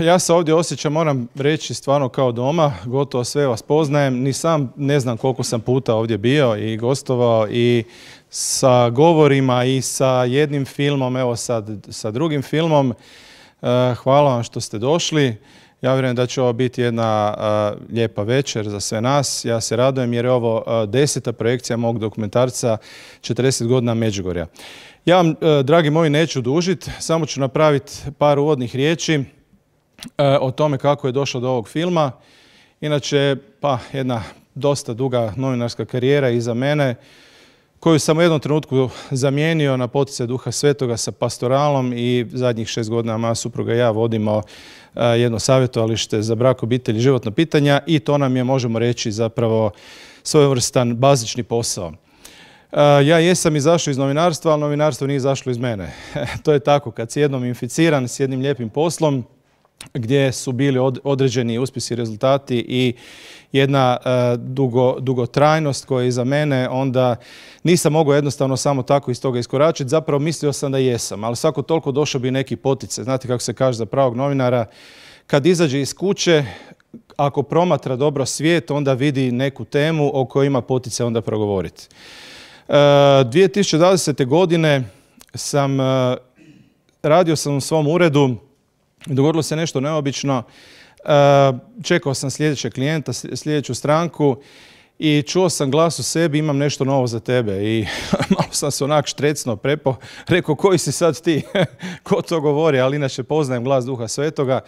Ja se ovdje osjećam, moram reći, stvarno kao doma. Gotovo sve vas poznajem. Ni sam ne znam koliko sam puta ovdje bio i gostovao i sa govorima i sa jednim filmom, evo sad sa drugim filmom. Hvala vam što ste došli. Ja vjerujem da će ovo biti jedna lijepa večer za sve nas. Ja se radujem jer je ovo 10. projekcija mog dokumentarca 40 godina Međugorja. Ja vam, dragi moji, neću dužiti, samo ću napraviti par uvodnih riječi o tome kako je došlo do ovog filma. Inače, jedna dosta duga novinarska karijera iza mene, koju sam u jednom trenutku zamijenio na poticaj Duha Svetoga sa pastoralom i zadnjih 6 godina moja supruga i ja vodimo jedno savjetovalište za brak, obitelj i životna pitanja i to nam je, možemo reći, zapravo svojevrstan bazični posao. Ja jesam izašao iz novinarstva, ali novinarstvo nije izašlo iz mene. To je tako, kad si jednom inficiran s jednim lijepim poslom, gdje su bili određeni uspjesi i rezultati i jedna dugotrajnost koja je iza mene, onda nisam mogao jednostavno samo tako iz toga iskoračiti. Zapravo mislio sam da jesam, ali svako toliko došao bi neki poticaj. Znate kako se kaže za pravog novinara, kad izađe iz kuće, ako promatra dobro svijet, onda vidi neku temu o kojoj ima poticaj onda progovoriti. 2020. godine radio sam u svom uredu, dogodilo se nešto neobično. Čekao sam sljedećeg klijenta, sljedeću stranku i čuo sam glas u sebi, imam nešto novo za tebe. I malo sam se onak štrecno prepao, rekao koji si sad ti, ko to govori, ali inače poznajem glas Duha Svetoga.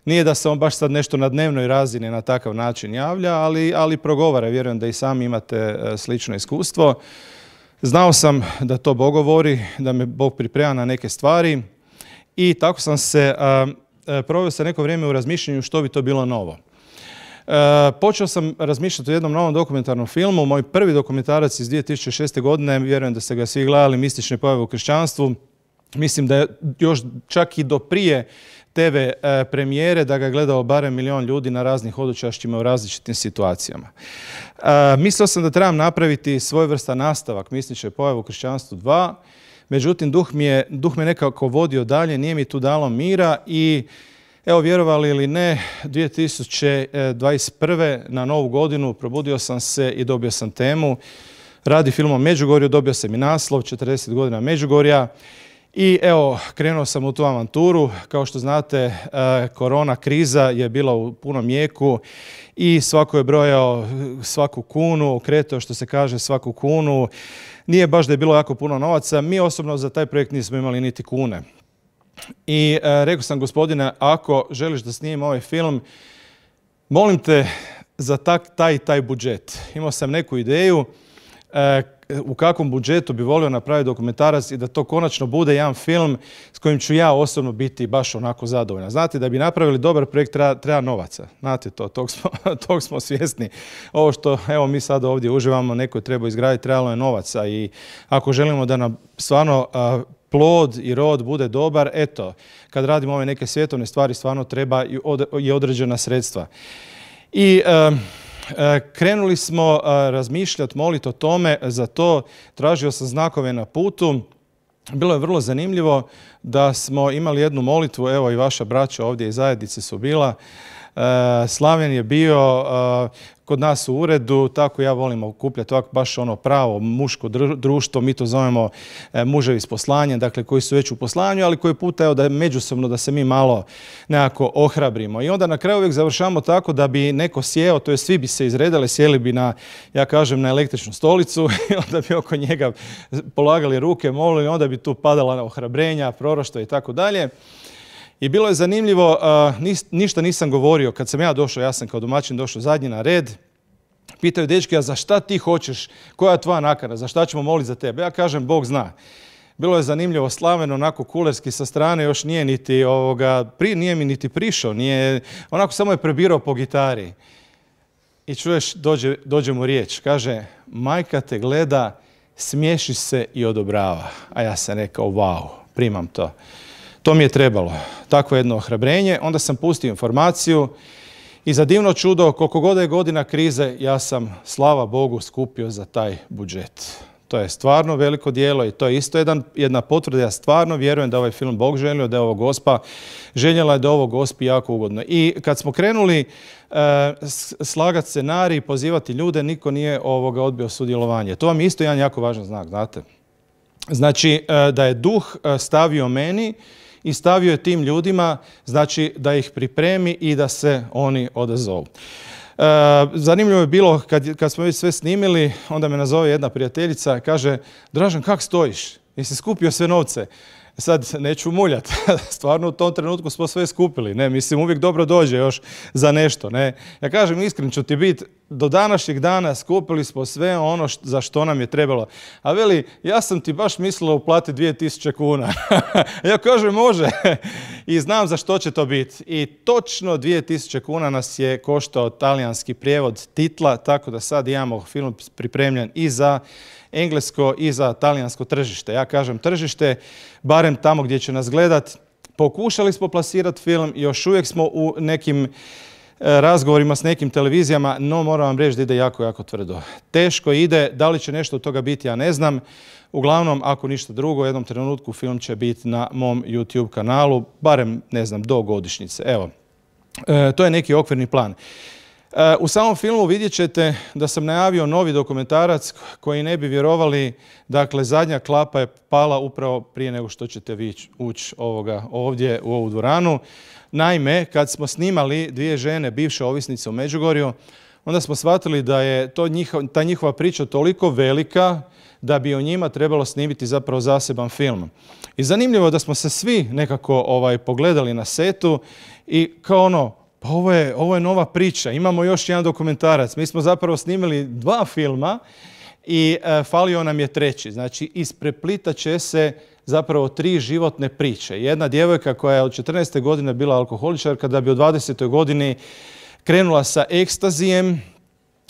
Nije da se on baš sad nešto na dnevnoj razini na takav način javlja, ali progovara. Vjerujem da i sami imate slično iskustvo. Znao sam da to Bog govori, da me Bog priprema na neke stvari i tako sam se proveo se neko vrijeme u razmišljanju što bi to bilo novo. Počeo sam razmišljati o jednom novom dokumentarnom filmu. Moj prvi dokumentarac iz 2006. godine, vjerujem da ste ga svi gledali, Mistične pojave u kršćanstvu. Mislim da je još čak i do prije TV premijere da ga gledao barem 1 milijun ljudi na raznih hodočašćima u različitim situacijama. Mislio sam da trebam napraviti svojevrstan nastavak Mistične pojave u kršćanstvu 2, međutim duh me nekako vodio dalje, nije mi tu dalo mira i evo, vjerovali ili ne, 2021. na Novu godinu probudio sam se i dobio sam temu. Radi film o Međugorju, dobio sam i naslov 40 godina Međugorja. I evo, krenuo sam u tu avanturu. Kao što znate, korona kriza je bila u punom jeku i svako je brojao svaku kunu, okretao, što se kaže, svaku kunu. Nije baš da je bilo jako puno novaca. Mi osobno za taj projekt nismo imali niti kune. I rekao sam, gospodine, ako želiš da snimim ovaj film, molim te za taj budžet. Imao sam neku ideju u kakvom budžetu bi volio napraviti dokumentarac i da to konačno bude jedan film s kojim ću ja osobno biti baš onako zadovoljan. Znate, da bi napravili dobar projekt treba novaca. Znate to, tog smo svjesni. Ovo što evo mi sad ovdje uživamo, neko je trebao izgraditi, trebalo je novaca i ako želimo da nam stvarno plod i rod bude dobar, eto, kad radimo ove neke svjetovne stvari, stvarno treba i određena sredstva. I krenuli smo razmišljati, moliti o tome, za to tražio sam znakove na putu. Bilo je vrlo zanimljivo da smo imali jednu molitvu, evo i vaša braća ovdje iz zajednice su bila. Slaven je bio kod nas u uredu, tako ja volim okupljati ovako baš ono pravo muško društvo, mi to zovemo muževi s poslanjem, dakle koji su već u poslanju, ali koji puta evo da međusobno da se mi malo nekako ohrabrimo. I onda na kraju uvijek završamo tako da bi neko sjeo, to je svi bi se izredali, sjeli bi na, ja kažem, na električnu stolicu i onda bi oko njega polagali ruke, molili, onda bi tu padala ohrabrenja, proroštva i tako dalje. I bilo je zanimljivo, ništa nisam govorio. Kad sam ja došao, ja sam kao domaćin došao zadnji na red, pitaju dečki, a za šta ti hoćeš, koja je tvoja nakana, za šta ćemo moliti za tebe? Ja kažem, Bog zna. Bilo je zanimljivo, Slaven onako kulerski sa strane, još nije nije mi niti prišao, onako samo je prebirao po gitari. I čuješ, dođe mu riječ, kaže, majka te gleda, smiješi se i odobrava. A ja sam rekao, wow, primam to. To mi je trebalo, takvo jedno ohrabrenje. Onda sam pustio informaciju i za divno čudo, koliko god je godina krize, ja sam, slava Bogu, skupio za taj budžet. To je stvarno veliko djelo i to je isto jedna potvrda. Ja stvarno vjerujem da ovaj film Bog želio, da je ovo Gospa željela, da je ovo Gospi jako ugodno. I kad smo krenuli slagati scenarij, pozivati ljude, niko nije odbio sudjelovanje. To vam je isto jedan jako važan znak, znate. Znači, da je duh stavio meni i stavio je tim ljudima, znači da ih pripremi i da se oni odazovu. Zanimljivo je bilo kad smo već sve snimili, onda me nazove jedna prijateljica i kaže: Dražen, kak stojiš? Jesi skupio sve novce? Sad neću muljati, stvarno u tom trenutku smo sve skupili, ne, mislim uvijek dobro dođe još za nešto, ne. Ja kažem, iskren ću ti biti, do današnjeg dana skupili smo sve ono za što nam je trebalo. A veli, ja sam ti baš mislila uplatiti 2000 kuna. Ja kažem, može. I znam za što će to biti. I točno 2000 kuna nas je koštao talijanski prijevod titla, tako da sad imamo film pripremljen i za englesko i za talijansko tržište. Ja kažem tržište, barem tamo gdje će nas gledat. Pokušali smo plasirati film, još uvijek smo u nekim razgovorima s nekim televizijama, no moram vam reći da ide jako, jako tvrdo. Teško ide, da li će nešto od toga biti, ja ne znam. Uglavnom, ako ništa drugo, u jednom trenutku film će biti na mom YouTube kanalu, barem, ne znam, do godišnjice. Evo, to je neki okvirni plan. U samom filmu vidjet ćete da sam najavio novi dokumentarac koji ne bi vjerovali, dakle zadnja klapa je pala upravo prije nego što ćete vi ući ovdje u ovu dvoranu. Naime, kad smo snimali dvije žene, bivše ovisnice u Međugorju, onda smo shvatili da je ta njihova priča toliko velika da bi o njima trebalo snimiti zapravo zaseban film. I zanimljivo je da smo se svi nekako pogledali na setu i kao ono, pa ovo je nova priča, imamo još jedan dokumentarac. Mi smo zapravo snimili 2 filma i falio nam je treći. Znači, ispreplitat će se zapravo 3 životne priče. Jedna djevojka koja je od 14. godine bila alkoholičarka, da bi u 20. godini krenula sa ekstazijem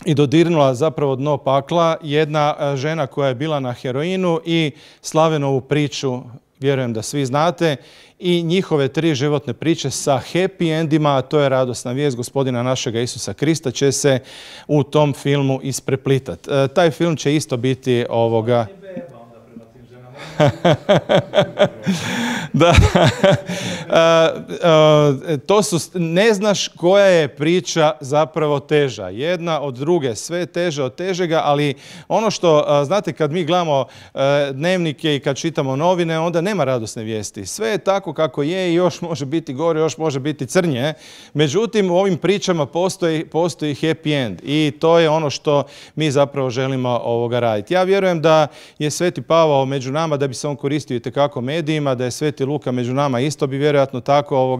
i dodirnula zapravo dno pakla. Jedna žena koja je bila na heroinu i Slavenovu priču, vjerujem da svi znate, i njihove 3 životne priče sa happy endima, a to je radosna vijest gospodina našega Isusa Krista, će se u tom filmu ispreplitati. Taj film će isto biti da. To su, ne znaš koja je priča zapravo teža. Jedna od druge, sve teže od težega, ali ono što, znate, kad mi gledamo dnevnike i kad čitamo novine, onda nema radosne vijesti. Sve je tako kako je i još može biti gore, još može biti crnje. Međutim, u ovim pričama postoji happy end i to je ono što mi zapravo želimo raditi. Ja vjerujem da je Sveti Pavao među nama, da bi se on koristio itekako medijima, da je Sveti Luka među nama isto bi vjerojatno tako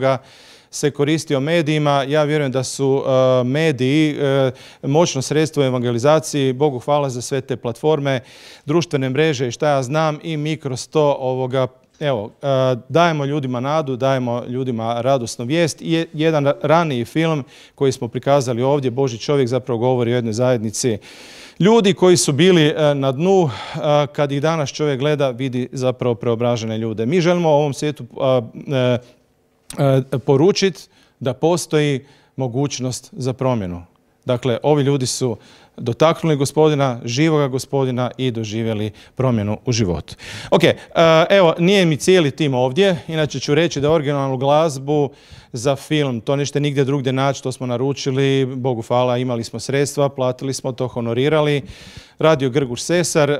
se koristio medijima. Ja vjerujem da su mediji moćno sredstvo u evangelizaciji. Bogu hvala za sve te platforme, društvene mreže i šta ja znam, i mi kroz to dajemo ljudima nadu, dajemo ljudima radosnu vijest. I jedan raniji film koji smo prikazali ovdje, Božji čovjek, zapravo govori o jednoj zajednici ljudi koji su bili na dnu, kad ih danas čovjek gleda, vidi zapravo preobražene ljude. Mi želimo u ovom svijetu poručiti da postoji mogućnost za promjenu. Dakle, ovi ljudi su dotaknuli Gospodina, živoga Gospodina i doživjeli promjenu u životu. Ok, evo, nije mi cijeli tim ovdje, inače ću reći da originalnu glazbu za film, to nećete nigdje drugdje naći, to smo naručili, Bogu hvala, imali smo sredstva, platili smo to, honorirali. Radio Grgur Sesar,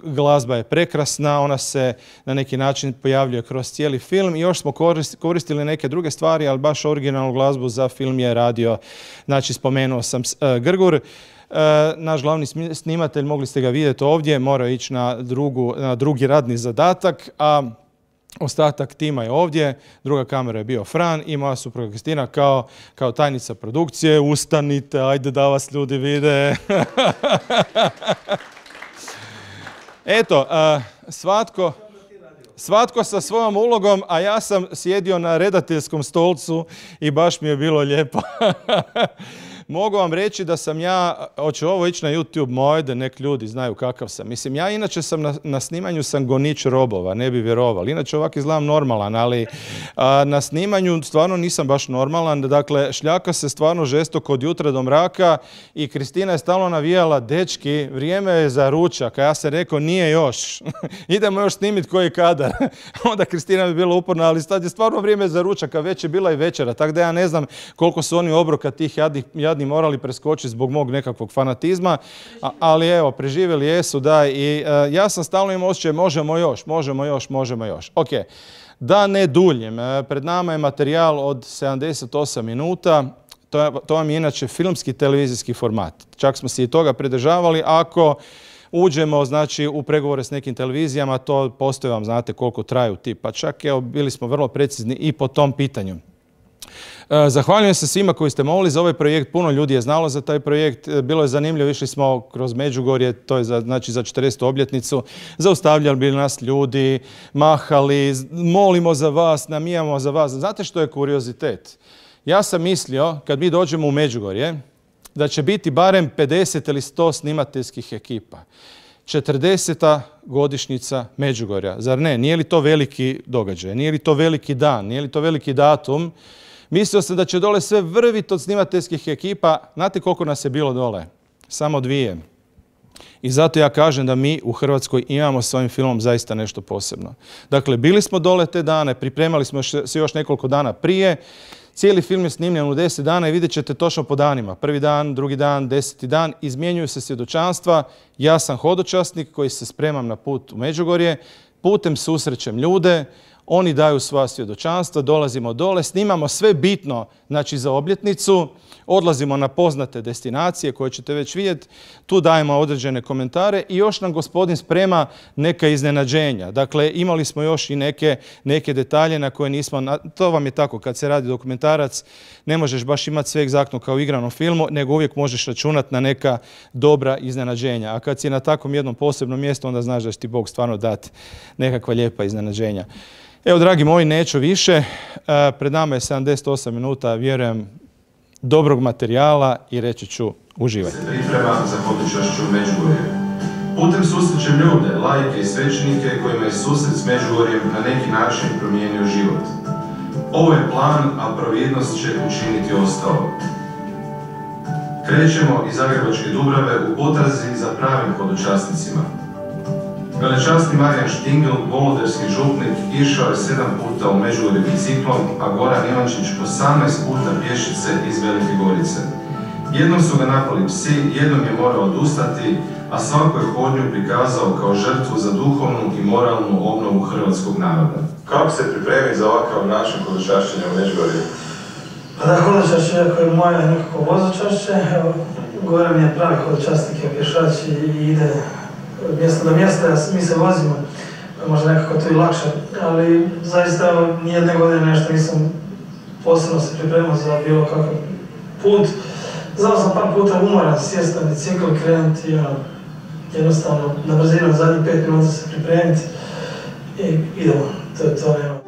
glazba je prekrasna, ona se na neki način pojavljuje kroz cijeli film i još smo koristili neke druge stvari, ali baš originalnu glazbu za film je radio, znači spomenuo sam Grgur. Naš glavni snimatelj, mogli ste ga vidjeti ovdje, morao ići na drugi radni zadatak, a ostatak tima je ovdje, druga kamera je bio Fran i moja supruga Kristina kao tajnica produkcije. Ustanite, ajde da vas ljudi vide. Eto, svatko sa svojom ulogom, a ja sam sjedio na redateljskom stolcu i baš mi je bilo lijepo. mogu vam reći da sam ja, hoće ovo ići na YouTube moj, da nek ljudi znaju kakav sam. Mislim, ja inače sam na snimanju sam gonič robova, ne bi vjerovali. Inače ovak izgledam normalan, ali na snimanju stvarno nisam baš normalan. Dakle, šljaka se stvarno žestoko od jutra do mraka i Kristina je stalno navijala, dečki, vrijeme je za ručak, a ja sam rekao, nije još. Idemo još snimiti koji kadar. Onda Kristina bi bila uporna, ali sad je stvarno vrijeme za ručak, a već je bila i večera. Tako da ja ne znam koliko su oni obroka tih jadni morali preskočiti zbog mog nekakvog fanatizma, ali evo, preživjeli jesu, da, i ja sam stalno imao osjećaj, možemo još. Ok, da ne duljim, pred nama je materijal od 78 minuta, to vam je inače filmski televizijski format. Čak smo se i toga pridržavali. Ako uđemo, znači, u pregovore s nekim televizijama, to postoje vam, znate koliko traju ti, pa čak, evo, bili smo vrlo precizni i po tom pitanju. Zahvaljujem se svima koji ste molili za ovaj projekt. Puno ljudi je znalo za taj projekt. Bilo je zanimljivo, išli smo kroz Međugorje, to je znači za 40. obljetnicu. Zaustavljali bi nas ljudi, mahali, molimo za vas, namijamo za vas. Znate što je kuriozitet? Ja sam mislio, kad mi dođemo u Međugorje, da će biti barem 50 ili 100 snimateljskih ekipa. 40. godišnjica Međugorja. Zar ne? Nije li to veliki događaj? Nije li to veliki dan? Nije li to veliki datum? Mislio sam da će dole sve vrviti od snimateljskih ekipa. Znate koliko nas je bilo dole? Samo 2. I zato ja kažem da mi u Hrvatskoj imamo s ovim filmom zaista nešto posebno. Dakle, bili smo dole te dane, pripremali smo se još nekoliko dana prije. Cijeli film je snimljen u 10 dana i vidjet ćete točno po danima. 1. dan, 2. dan, 10. dan. Izmjenjuju se svjedočanstva. Ja sam hodočasnik koji se spremam na put u Međugorje. Putem susrećem ljude. Oni daju svoja svjedočanstva, dolazimo dole, snimamo sve bitno, znači, za obljetnicu, odlazimo na poznate destinacije koje ćete već vidjeti, tu dajemo određene komentare i još nam gospodin sprema neka iznenađenja. Dakle, imali smo još i neke detalje na koje nismo, to vam je tako, kad se radi dokumentarac, ne možeš baš imati sve egzaktno kao u igranom filmu, nego uvijek možeš računati na neka dobra iznenađenja. A kad si na takvom jednom posebnom mjestu, onda znaš da će ti Bog stvarno dati nekakva lijepa iznenađenja. Evo, dragi moji, neću više. Pred nama je 78 minuta, vjerujem, dobrog materijala i reći ću, uživajte. Se priprema za hodočašću u Međugorje. Putem susrećem ljude, laike i svećenike kojima je susret s Međugorjem na neki način promijenio život. Ovo je plan, a providnost će učiniti ostalo. Krećemo iz Zagrebačke Dubrave u potrazi za pravim hodočasnicima. Velečasni Marijan Štingl, voloderski župnik, išao je 7 puta u Međugorje biciklom, a Goran Ivančić 18 puta pješice iz Velike Gorice. Jednom su ga napali psi, jednom je morao odustati, a svaku je hodnju prikazao kao žrtvu za duhovnu i moralnu obnovu hrvatskog naroda. Kako se pripremi za ovakav način hodočašćenja u Međugorju? Pa da, hodočašće ako je moje nekako vozočašće, Goran je pravi hodočasnik, je pješač i ide mjesto do mjesta, mi se vozimo, možda nekako to i lakše, ali zaista nijedne godine nešto nisam posebno se pripremao za bilo kakav put. Znao sam par puta umoran, sjest na bicikl, krenuti i jednostavno na brzinu zadnjih 5 minuta se pripremiti i idemo, to nema.